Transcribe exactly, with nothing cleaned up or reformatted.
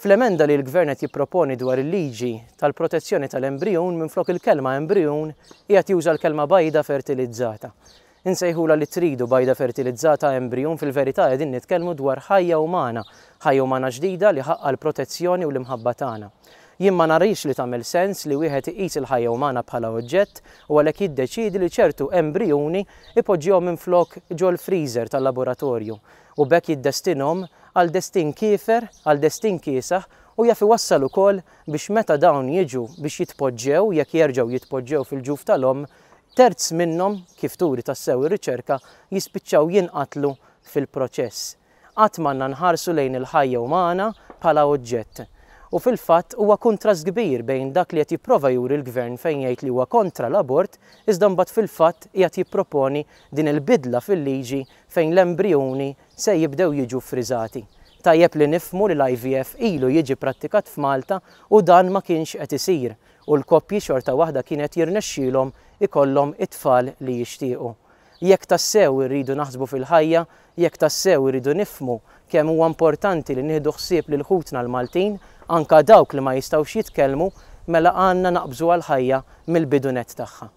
Fl-emenda li l-Gvern qed jipproponi dwar il-liġi tal-protezzjoni tal-embrijun, minflok il-kelma embrijun qiegħed juża l-kelma bajda fertilizzata. Insejħula li tridu, bajda fertilizzata, embrijun, fil-verità qegħdin nitkellmu dwar ħajja umana, ħajja umana ġdida li ħaqqa l-protezzjoni u l-imħabba tagħna. Jien ma narix li tagħmel sens li wieħed iqis il-ħajja umana bħala oġġett u għalhekk jiddeċiedi li ċertu embrijuni ipoġġihom minflok ġol-freezer tal-laboratorju u b'hekk jiddestinhom għal destin kiefer, għal destin kiesaħ, u jaf iwassal ukoll biex meta dawn jiġu biex jitpoġġew, jekk jerġgħu jitpoġġew fil-ġuf tal-omm, terz minnhom, kif turi tassew ir-riċerka, jispiċċaw jinqatlu fil-proċess. Qatt m'għandna nħarsu lejn il-ħajja umana bħala oġġett. U fil-fatt huwa kuntrast kbir bejn dak li qed jipprova juri l-Gvern fejn jgħid li huwa kontra l-abort, iżda mbagħad fil-fatt qiegħed jipproponi din il-bidla fil-liġi fejn l-embrijuni se jibdew jiġu friżati. Tajjeb li nifhmu li l-I V F ilu jiġi prattikat f'Malta u dan ma kienx qed isir u l-koppji xorta waħda kienet jirnexxielhom ikollhom it-tfal li jixtiequ. Jekk tassew irridu naħsbu fil-ħajja, jekk tassew irridu nifhmu kemm huwa importanti li nieħdu ħsieb lil ħutna l-Maltin, anka dawk li ma jistgħux jitkellmu, mela għandna naqbżu għal-ħajja mill-bidu nett tagħha.